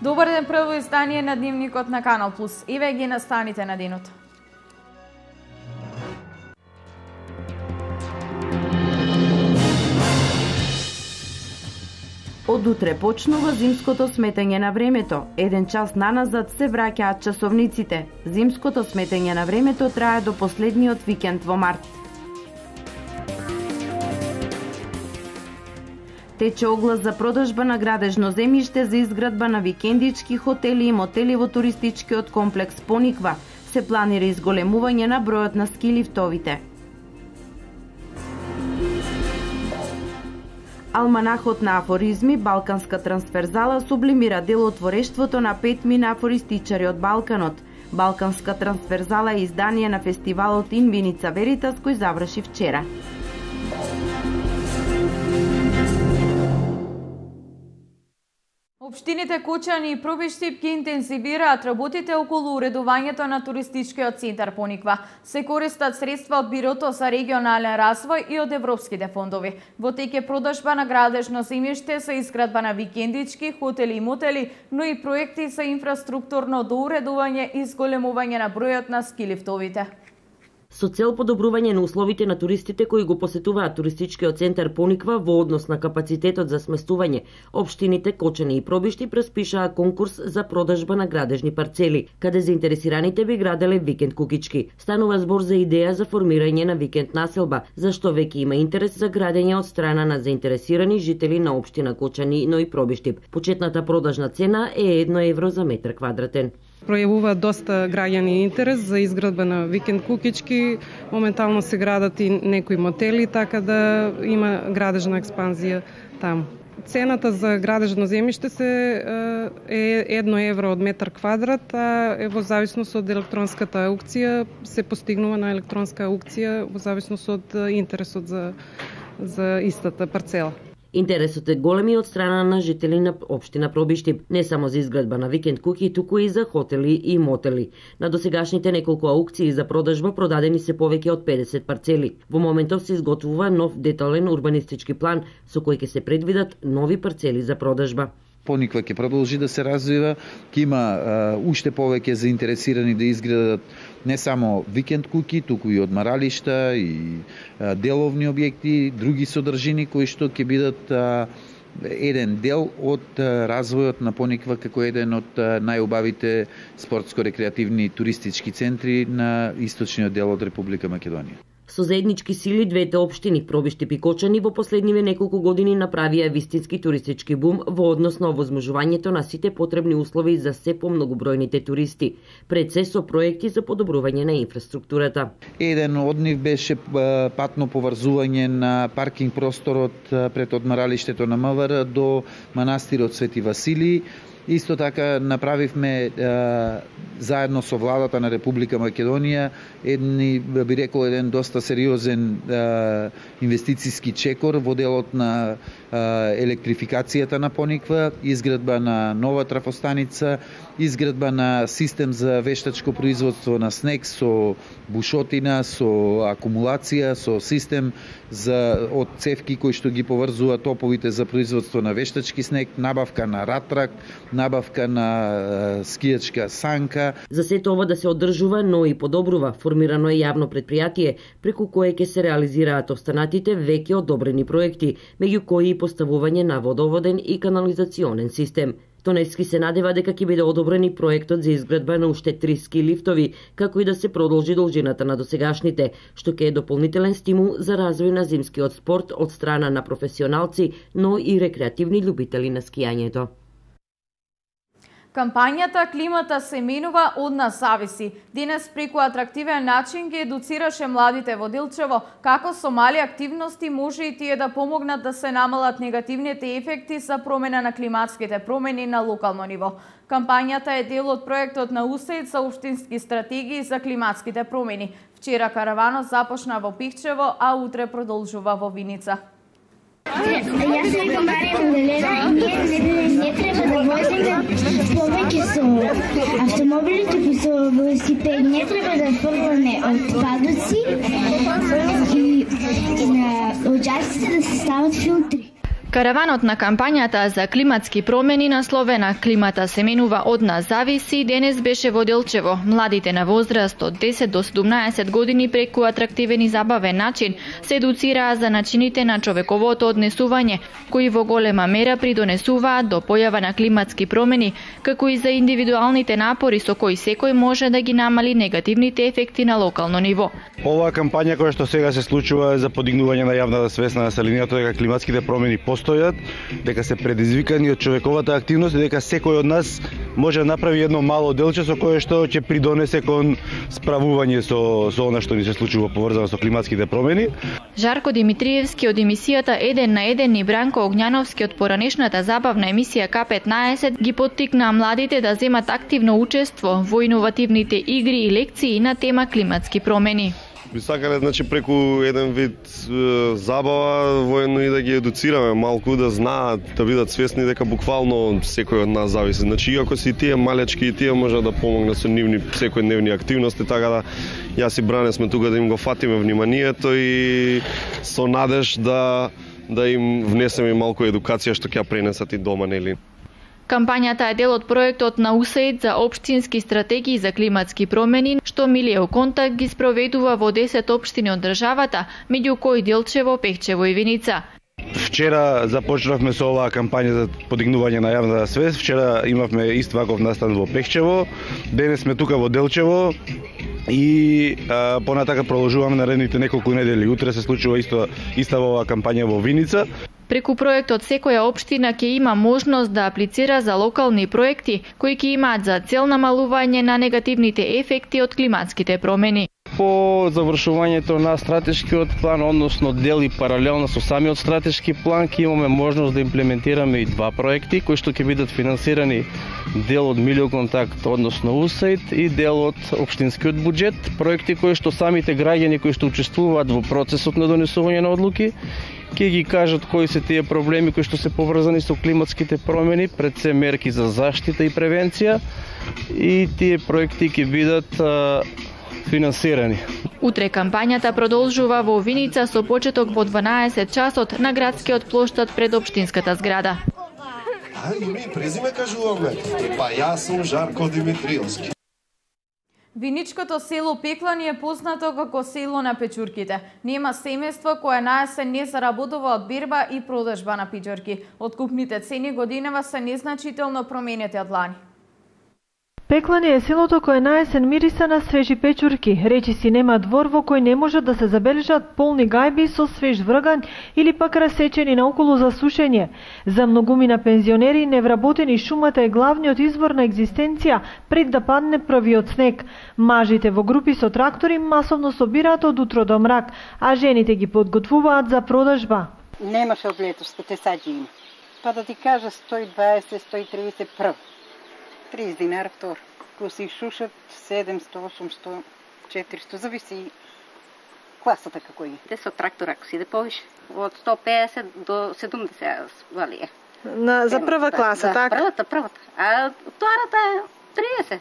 Добар ден, прво издание на Дневникот на Канал Плюс. Еве ги настаните на денот. Од утре почнува зимското сметење на времето. Еден час наназад се враќаат часовниците. Зимското сметење на времето трае до последниот викенд во март. Тече оглас за продажба на градежно земјиште за изградба на викендички хотели и мотели во туристичкиот комплекс Пониква. Се планира изголемување на бројот на ски лифтовите. Алманахот на афоризми Балканска трансферзала сублимира делотворештвото на 5 мина афористичари од Балканот. Балканска трансферзала е издание на фестивалот Инвиница Веритас кој заврши вчера. Општините Кочани и Пробиштип ги интензивираат работите околу уредувањето на туристичкиот центар Пониква. Се користат средства од Бирото за регионален развој и од европските фондови. Во тек е продажба на градежно земјиште за изградба на викендички, хотели и мотели, но и проекти за инфраструктурно доуредување и зголемување на бројот на ски лифтовите. Со цел подобрување на условите на туристите кои го посетуваат туристичкиот центар Пониква во однос на капацитетот за сместување, општините Кочани и Пробишти распишаа конкурс за продажба на градежни парцели, каде заинтересираните би граделе викенд кукички. Станува збор за идеја за формирање на викенд населба, зашто веќе има интерес за градење од страна на заинтересирани жители на општина Кочани, но и Пробиштип. Почетната продажна цена е 1 евро за метар квадратен. Пројавува доста граѓани интерес за изградба на викенд кукички. Моментално се градат и некои мотели, така да има градежна експанзија таму. Цената за градежно земјиште е 1 евро од метар квадрат, а во зависност од електронската аукција се постигнува на електронска аукција во зависност од интересот за истата парцела. Интересот е голем и од страна на жители на општина Пробиштип, не само за изградба на викенд куки, туку и за хотели и мотели. На досегашните неколку аукции за продажба продадени се повеќе од 50 парцели. Во моментов се изготвува нов детален урбанистички план со кој ќе се предвидат нови парцели за продажба. Пониква ќе продолжи да се развива, ќе има уште повеќе заинтересирани да изградат не само викенд куки, туку и одмаралишта и деловни објекти, други содржини кои што ќе бидат еден дел од развојот на Пониква како еден од најубавите спортско-рекреативни туристички центри на источниот дел од Република Македонија. Со заеднички сили двете општини Пробиштип и Кочани во последниве неколку години направија вистински туристички бум во однос на овозможувањето на сите потребни услови за се помногубројните туристи, пред се со проекти за подобрување на инфраструктурата. Еден од нив беше патно поврзување на паркинг просторот пред одмаралиштето на МВР до манастирот Свети Василий. Исто така направивме заедно со владата на Република Македонија би рекол еден доста сериозен инвестициски чекор во делот на електрификацијата на Пониква, изградба на нова трафостаница, изградба на систем за вештачко производство на снег со бушотина, со акумулација, со систем од цевки кои што ги поврзува топовите за производство на вештачки снег, набавка на ратрак, набавка на скијачка санка. За сето ова да се одржува, но и подобрува, формирано е јавно предпријатие, преку кое ќе се реализираат останатите веќе одобрени проекти, меѓу кои и поставување на водоводен и канализационен систем. Тонески се надева дека ќе биде одобрен и проектот за изградба на уште 3 ски лифтови, како и да се продолжи должината на досегашните, што ќе е дополнителен стимул за развој на зимскиот спорт од страна на професионалци, но и рекреативни љубители на скијањето. Кампањата "Климата се менува, од нас зависи" денес преку атрактивен начин ги едуцираше младите во Делчево како со мали активности може и тие да помогнат да се намалат негативните ефекти за промена на климатските промени на локално ниво. Кампањата е дел од проектот на УСАИД за општински стратегии за климатските промени. Вчера караванот започна во Пихчево, а утре продолжува во Виница. Јас се викам Марија Магдалена и ние не треба да возиме повеќе со автомобили, туку со велосипед. Не треба да фрламе отпадоци и на оџаците да се стават филтри. Караванот на кампањата за климатски промени насловена "Климата се менува, од нас зависи" денес беше во Делчево. Младите на возраст од 10 до 17 години преку атрактивен и забавен начин се едуцираа за начините на човековото однесување, кои во голема мера придонесуваат до појава на климатски промени, како и за индивидуалните напори со кои секој може да ги намали негативните ефекти на локално ниво. Оваа кампања која што сега се случува е за подигнување на јавната свест на населението дека климатските промени постојат, дека се предизвикани од човековата активност и дека секој од нас може да направи едно мало делче со кое што ќе придонесе кон справување со она што ни се случува поврзано со климатските промени. Жарко Димитриевски од емисијата 1 на 1 и Бранко Огњановски од поранешната забавна емисија К15 ги поттикнаа младите да земат активно учество во иновативните игри и лекции на тема климатски промени. Би сакале, преку еден вид забава, воено и да ги едуцираме малку, да знаат, да бидат свесни дека буквално секој од нас зависи. Иако си тие малечки и тие може да помогнат со нивни секојдневни активности, така да јас и Бране сме тука да им го фатиме вниманието и со надеж да им внесеме малку едукација што ќе пренесат и дома, нели? Кампањата е дел од проектот на УСАИД за општински стратегии за климатски промени, што Милијев Контакт ги спроведува во 10 општини од државата, меѓу кои Делчево, Пехчево и Виница. Вчера започнавме со оваа кампања за подигнување на јавната свест. Вчера имавме ист ваков настан во Пехчево. Денес сме тука во Делчево и понатака продолжуваме наредните неколку недели. Утре се случува иста оваа кампања во Виница. Преку проектот секоја општина ќе има можност да аплицира за локални проекти кои ќе имаат за цел намалување на негативните ефекти од климатските промени. По завршувањето на стратешкиот план, односно дели паралелно со самиот стратешки план, ќе имаме можност да имплементираме и два проекти кои што ќе бидат финансирани дел од Милијев Контакт, односно УСАИД, и дел од општинскиот буџет, проекти кои што самите граѓани кои што учествуваат во процесот на донесување на одлуки ќе ги кажат кои се тие проблеми кои што се поврзани со климатските промени, пред се мерки за заштита и превенција, и тие проекти ќе бидат финансирани. Утре кампањата продолжува во Виница со почеток во 12 часот на градскиот плоштад пред општинската зграда. Име и презиме кажуваме. Па јас сум Жарко Димитриевски. Виничкото село Пеклани е познато како село на печурките. Нема семејство кое на есен не заработува од берба и продажба на пичорки. Откупните цени годинава се незначително променети од лани. Пеклани е селото кое на есен мириса на свежи печурки. Речиси нема двор во кој не може да се забележат полни гајби со свеж врган или пак расечени наоколу за сушење. За многумина пензионери невработени шумата е главниот извор на екзистенција пред да падне првиот снег. Мажите во групи со трактори масовно собираат од утро до мрак, а жените ги подготвуваат за продажба. Немаше од летоска, те саѓи има. Па да ти кажа 120, 130 прв. 30 динара втор. Ко се шушат 700, 800, 400, зависи класата како е. Те со трактор ако си да повише, од 150 до 70 валија. За прва класа, така? Првата. А втората е 30.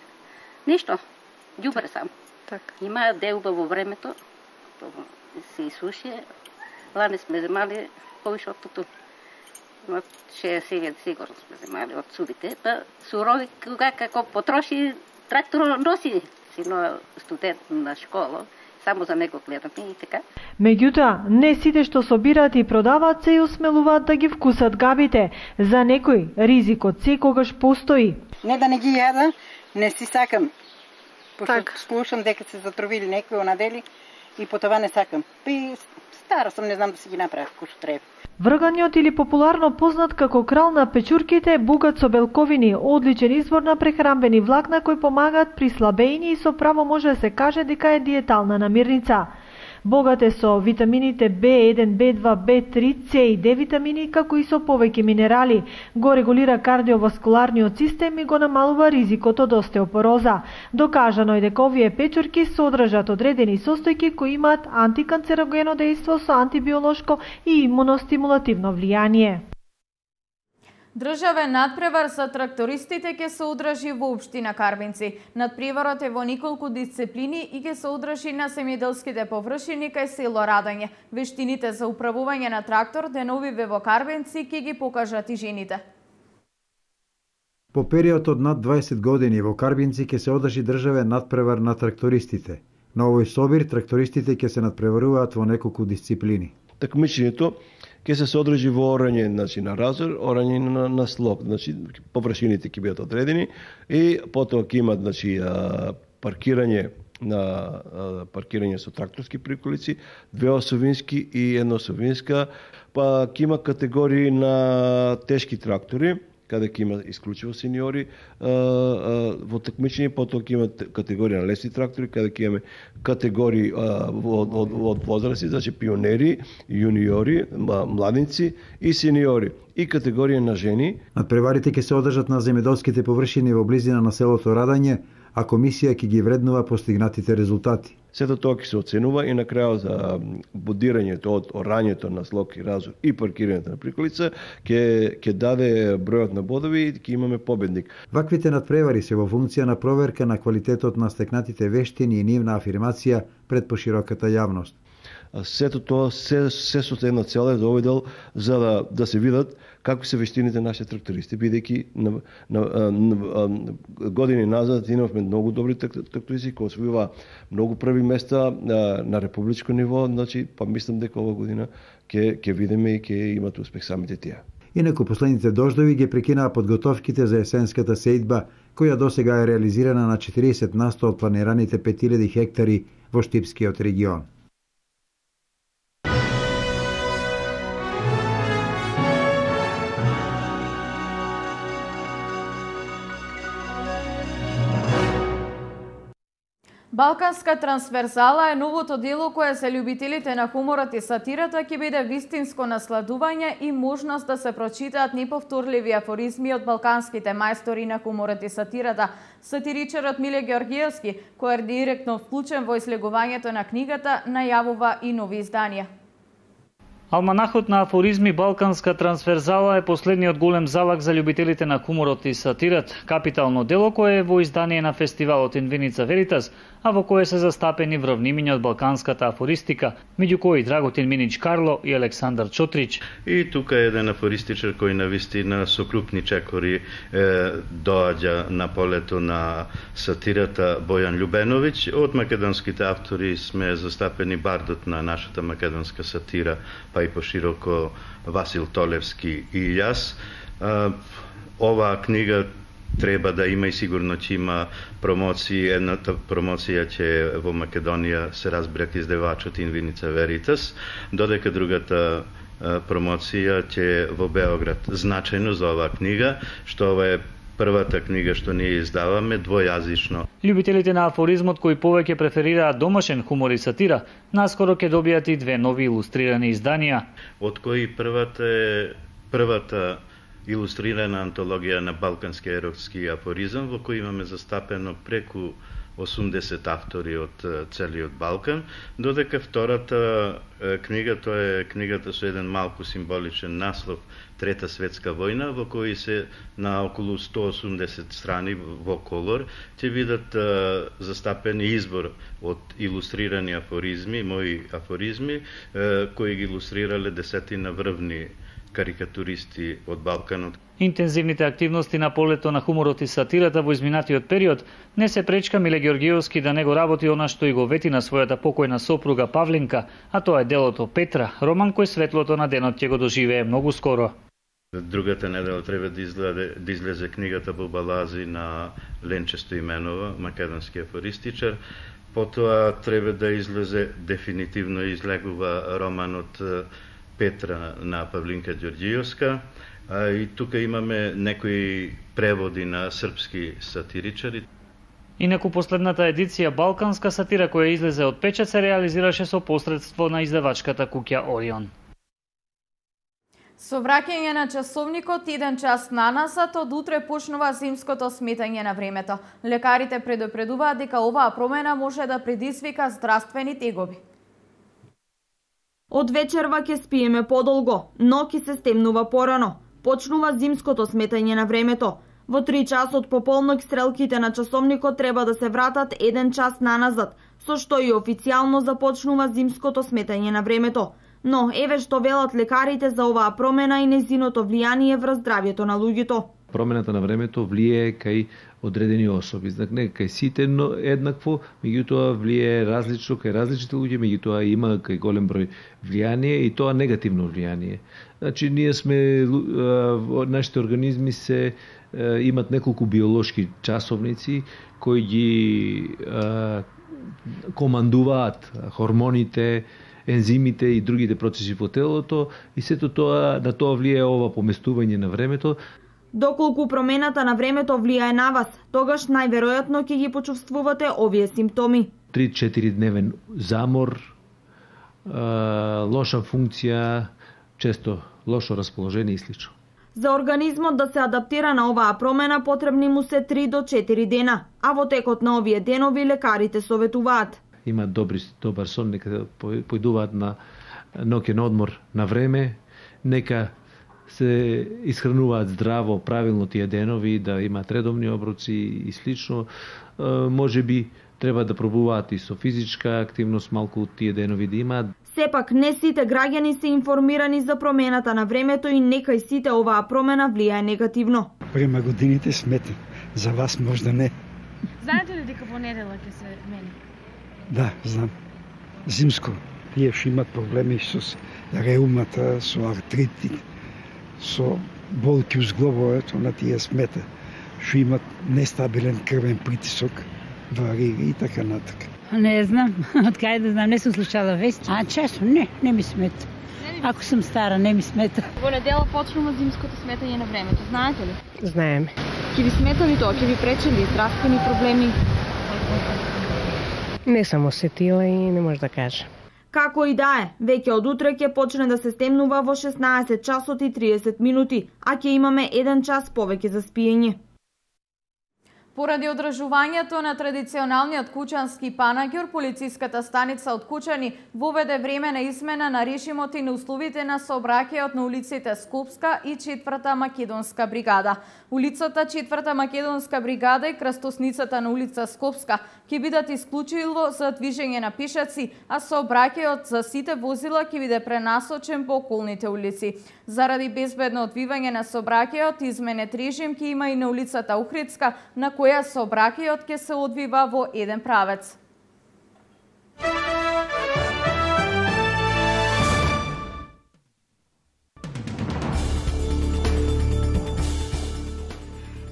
Ништо. Ѓубре само. Так. Има делба во времето, се изсуши. Лани сме земали повише од туту. 60 сигурно сме земали од субите, па сурови кога како потроши трактор носи, сино студент на школа, само за него гледаме и така. Меѓутоа, не сите што собираат и продаваат се и осмелуваат да ги вкусат габите. За некој ризикот секогаш постои. Не да не ги јада, не си сакам. Пошто слушам дека се затровили некои онадели и по това не сакам. И стара сум, не знам да си ги направам кој што треба. Врганиот или популарно познат како крал на печурките е богат со белковини, одличен извор на прехранбени влакна кои помагаат при слабеини и со право може да се каже дека е диетална намирница. Богат е со витамините B1, B2, B3, C и D витамини, како и со повеќе минерали. Го регулира кардиоваскуларниот систем и го намалува ризикот од остеопороза. Докажано е дека овие печурки содржат одредени состојки кои имаат антиканцерогено дејство со антибиолошко и имуностимулативно влијание. Државен надпревар за трактористите ќе се одржи во општина Карбинци. Надпреварот е во неколку дисциплини и ќе се одржи на земјоделските површини кај село Радање. Вештините за управување на трактор деновиве во Карбинци ќе ги покажат и жените. По период од над 20 години во Карбинци ќе се одржи државен надпревар на трактористите. На овој собир трактористите ќе се надпреваруваат во неколку дисциплини. Такмичењето ќе се одржи во орање, значи на разор, орање на слоп, значи површините ќе бидат одредени и потоа ќе имат значи паркирање со тракторски приколици, 2 осовински и 1 осовинска, па ќе има категории на тешки трактори, каде ќе има исклучиво сениори во такмичење, потоа ќе има категорија на лесни трактори, каде ќе имаме категории од возрасти, значи пионери, јуниори, младинци и сениори, и категорија на жени. Надпреварите ќе се одржат на земјоделските површини во близина на селото Радање, а комисија ќе ги вреднува постигнатите резултати. Сето тоа ќе се оценува и на крајот за бодирањето од орањето на слог и разор и паркирањето на приколица ќе даде бројот на бодови и ќе имаме победник. Ваквите надпревари се во функција на проверка на квалитетот на стекнатите вештини и нивна афирмација пред пошироката јавност. Сето тоа се со една цел е доведел за да се видат какви се вештините на нашите трактористи, бидејќи години назад имавме многу добри трактористи кои освојува многу први места на републичко ниво, значи па мислам дека ова година ќе видиме и ќе имат успех самите тие. Инаку последните дождови ги прекинаа подготовките за есенската сејдба, која досега е реализирана на 40% од планираните 5000 хектари во Штипскиот регион. Балканска трансверзала е новото дело кое за љубителите на хуморот и сатирата ќе биде вистинско насладување и можност да се прочитаат неповторливи афоризми од балканските мајстори на хуморот и сатирата. Сатиричарот Миле Георгиевски, кој е директно вклучен во излегувањето на книгата, најавува и нови изданија. Алманахот на афоризми Балканска трансверзала е последниот голем залак за љубителите на хуморот и сатират, капитално дело кое е во издание на фестивалот Инвиница Веритас, а во кое се застапени вравнимиња од балканската афористика, меѓу кои Драготин Минич Карло и Александар Чотрич. И тука е еден афористичар кој навистина со крупни чекори доаѓа на полето на сатирата Бојан Љубеновиќ. Од македонските автори сме застапени бардот на нашата македонска сатира, па и пошироко Васил Толевски и јас. Оваа книга треба да има и сигурно ќе има промоции. Едната промоција ќе во Македонија се разберат издавачот Инвиница Веритас, додека другата промоција ќе во Београд. Значајно за оваа книга, што ова е првата книга што ние издаваме двојазично. Љубителите на афоризмот кои повеќе преферираат домашен хумор и сатира, наскоро ќе добијат и 2 нови илустрирани изданија. Од кои првата е првата илустрирана антологија на балкански еротски афоризам, во кој имаме застапено преку 80 автори од целиот Балкан, додека втората книга, тоа е книгата со еден малку символичен наслов Трета светска војна, во кој се на околу 180 страни во колор ќе видат застапен избор од илустрирани афоризми, мои афоризми, кои ги илустрирале десетина врвни карикатуристи од Балканот. Интензивните активности на полето на хуморот и сатирата во изминатиот период не се пречка Миле Георгиевски да не го работи она што и го вети на својата покојна сопруга Павлинка, а тоа е делото Петра, роман кој светлото на денот ќе го доживее многу скоро. Другата недела треба да излезе книгата Бубалази на Ленче Стоименова, македонски афористичар. Потоа треба да излезе, дефинитивно излегува романот Петра на Павлинка Ѓорѓиевска. И тука имаме некои преводи на српски сатиричари. Инаку последната едиција Балканска сатира која излезе од печат се реализираше со посредство на издавачката куќа Орион. Со враќање на часовникот 1 час наназад, од утре почнува зимското сметање на времето. Лекарите предупредуваат дека оваа промена може да предизвика здравствени тегоби. Од вечерва ќе спиеме подолго, но ќе се стемнува порано. почнува зимското сметање на времето. Во 3 часот пополнок стрелките на часовникот треба да се вратат 1 час наназад, со што и официјално започнува зимското сметање на времето. Но еве што велат лекарите за оваа промена и незиното влијание врз здравјето на луѓето. Промената на времето влијае кај одредени особи. Не кај сите еднакво, меѓутоа влијае различно кај различните луѓе, меѓутоа има кај голем број влијание и тоа негативно влијание. Значи ние сме нашите организми имат неколку биолошки часовници кои ги командуваат хормоните, ензимите и другите процеси во телото и сето тоа на тоа влијае ова поместување на времето. Доколку промената на времето влијае на вас, тогаш најверојатно ќе ги почувствувате овие симптоми. 3-4 дневен замор, лоша функција, често лошо расположение и слично. За организмот да се адаптира на оваа промена потребни му се 3 до 4 дена, а во текот на овие денови лекарите советуваат. Има добар сон, нека појдуваат на ноќен одмор на време, нека се исхрануваат здраво, правилно тие денови, да имаат редовни оброци и слично. Може би треба да пробуваат и со физичка активност малку тие денови да имаат. Сепак не сите граѓани се информирани за промената на времето и некај сите оваа промена влијае негативно. Према годините сметам, за вас можда не. Знаете ли дека во недела ќе се мени? Да, знам. Зимско. Тие што имат проблеми со реумата, со артритит, со болки у зглобовето, на тие смета. Што имат нестабилен крвен притисок, варира и така натака. Не знам, од кај да знам, не сум слушала вести. Често не ми смета. Ако сум стара, не ми смета. Во недела почнува зимското сметање на времето, знаете ли? Знаеме. Ќе ви смета ли тоа? Ќе ви пречи ли здравствени проблеми? Не сум осетила и не може да кажа. Како и да е, веќе од утре ќе почне да се стемнува во 16 часот и 30 минути, а ќе имаме 1 час повеќе за спиење. Поради одржувањето на традиционалниот кучански панаѓур, полициската станица од Кучани воведе времена измена на режимот и на условите на сообраќајот на улиците Скопска и 4-та македонска бригада. Улицата 4-та македонска бригада и крстосницата на улица Скопска ќе бидат исклучило за движење на пишаци, а сообраќајот за сите возила ќе биде пренасочен по околните улици. Заради безбедно одвивање на сообраќајот, изменет режим ќе има и на улицата Охридска, на која сообраќајот ќе се одвива во еден правец.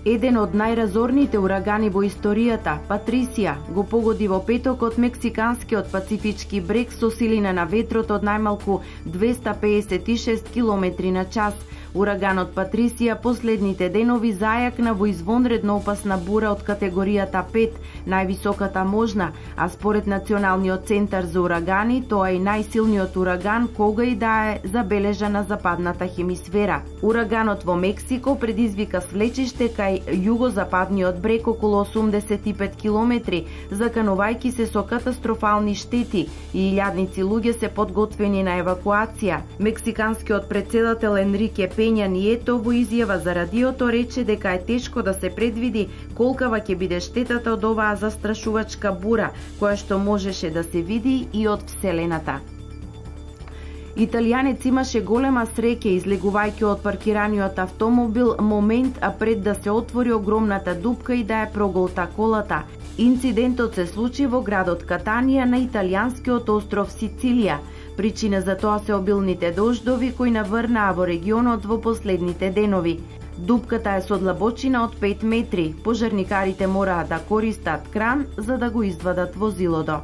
Еден од најразорните урагани во историјата, Патрисија, го погоди во петокот мексиканскиот пацифички брег со силина на ветрот од најмалку 256 км на час. Ураганот Патрисија последните денови зајакна во извонредно опасна бура од категоријата 5, највисоката можна, а според Националниот центар за урагани, тоа е најсилниот ураган кога и да е забележан на западната хемисфера. Ураганот во Мексико предизвика свлечиште кај југозападниот брег околу 85 километри, заканувајќи се со катастрофални штети и илјадници луѓе се подготвени на евакуација. Мексиканскиот претседател Енрике Пења Нието во изјава за радиото рече дека е тешко да се предвиди колкава ќе биде штетата од оваа застрашувачка бура, која што можеше да се види и од Вселената. Италијанец имаше голема среќа излегувајќи од паркираниот автомобил момент пред да се отвори огромната дупка и да ја проголта колата. Инцидентот се случи во градот Катанија на италијанскиот остров Сицилија. Причина за тоа се обилните дождови кои наврнаа во регионот во последните денови. Дупката е со длабочина од 5 метри. Пожарникарите мораа да користат кран за да го извадат возилото.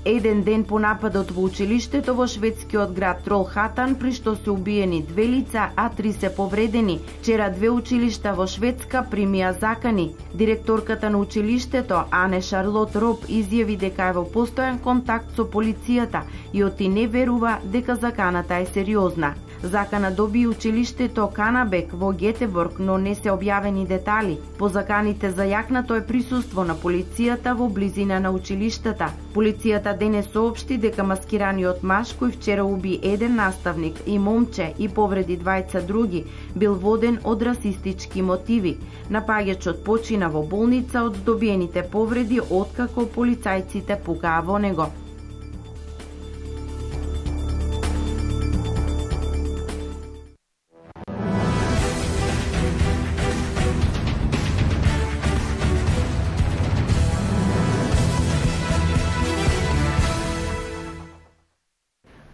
Еден ден по нападот во училиштето во шведскиот град Тролхатан, при што се убиени 2 лица, а 3 се повредени. Вчера 2 училишта во Шведска примија закани. Директорката на училиштето, Ане Шарлот Роб, изјави дека е во постојан контакт со полицијата и оти не верува дека заканата е сериозна. Закана доби училиштето Канабек во Гетеборг, но не се објавени детали. По заканите за јакнато е присуство на полицијата во близина на училиштата. Полицијата денес соопшти дека маскираниот маж кој вчера уби еден наставник и момче и повреди двајца други бил воден од расистички мотиви. Напаѓачот почина во болница од здобиените повреди откако полицајците пукаа во него.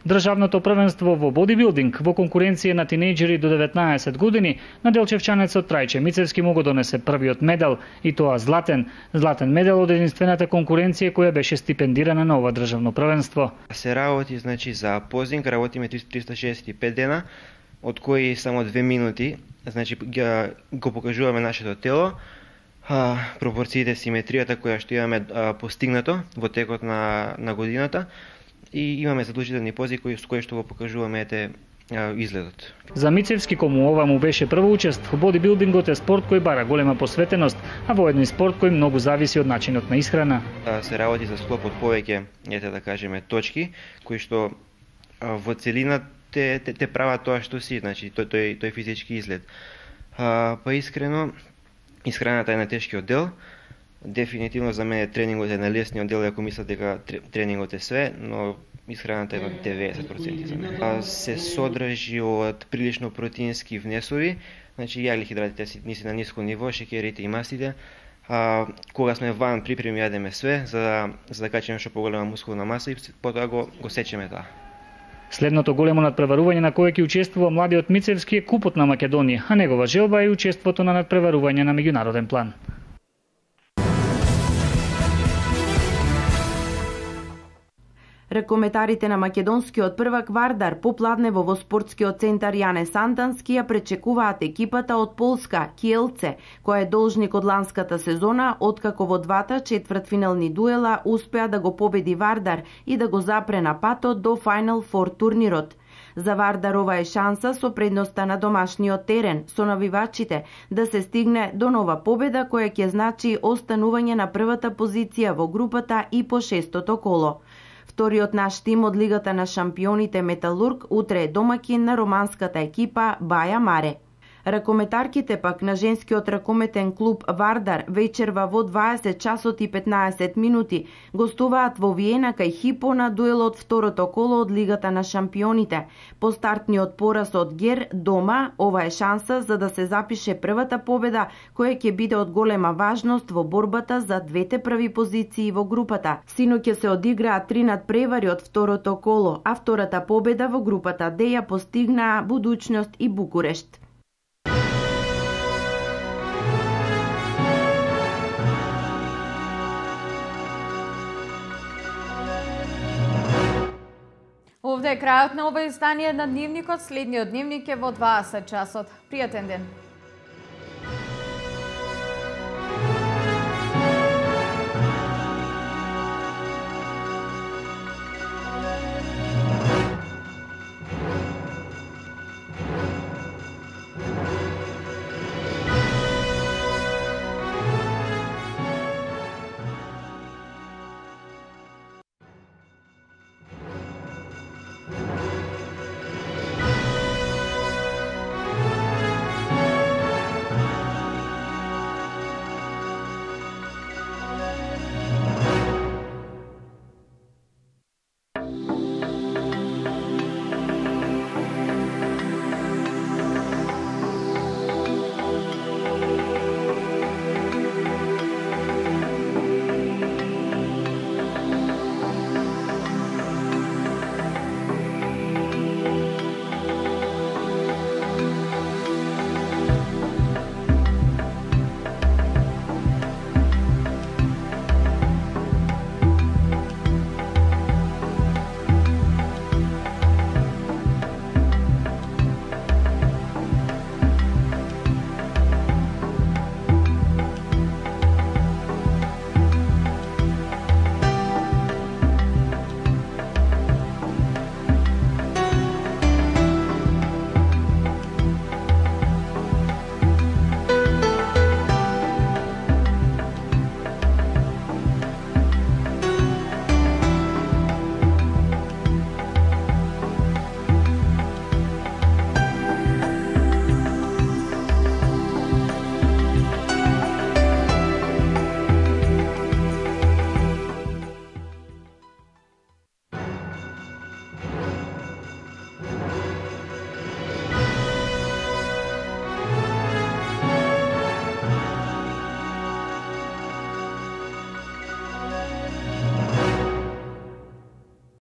Државното првенство во бодибилдинг во конкуренција на тинејџери до 19 години на делчевчанецот Трајче Мицевски му го донесе првиот медал, и тоа златен медал од единствената конкуренција која беше стипендирана на ова државно првенство. Се работи за позинг, работиме 365 дена, од кои само 2 минути, го покажуваме нашето тело, пропорциите, симетријата која што имаме постигнато во текот на годината, и имаме задолжителни пози со кои што го покажуваме изгледот. За Мицевски, кому ова му беше прва учест, бодибилдингот е спорт кој бара голема посветеност, а во еден спорт кој многу зависи од начинот на исхрана. Се работи за склоп од повеќе, да кажеме, точки, кои што во целина те прават тоа што си, тој физички изглед. Па искрено, исхраната е на тешкиот дел. Дефинитивно за мене тренингот е на лесниот дел, ако мислат дека тренингот е све, но исхраната е на 90% за мене. Се содржи од прилично протеински внесови, јагли хидратите си на ниско ниво, шеќерите и мастите. Кога сме ван припреми јадеме све, за да качиме што поголема мускулна маса и потоа го сечеме тоа. Следното големо надпреварување на кое ќе учествува младиот Мицевски е Купот на Македонија, а негова желба е учеството на надпреварување на меѓународен план. Ракометарите на македонскиот првак Вардар попладнево во спортскиот центар Јане Сантански ја пречекуваат екипата од Полска Киелце, која е должник од ланската сезона, откако во двата четвртфинални дуела успеа да го победи Вардар и да го запре на патот до Final Four турнирот. За Вардар ова е шанса со предноста на домашниот терен со навивачите да се стигне до нова победа која ќе значи останување на првата позиција во групата и по шестото коло. Вториот наш тим од Лигата на шампионите Металург утре е домаќин на романската екипа Баја Маре. Ракометарките пак на женскиот ракометен клуб Вардар вечерва во 20 часот и 15 минути гостуваат во Виена кај Хипо на дуелот второто коло од Лигата на шампионите. По стартниот пораз од Гер дома, ова е шанса за да се запише првата победа која ќе биде од голема важност во борбата за двете први позиции во групата. Синоќ ќе се одиграат 3 надпревари од второто коло, а втората победа во групата Д ја постигнаа Будуќност и Букурешт. Овде е крајот на ова издание на Дневникот. Следниот дневник е во 20 часот. Пријатен ден!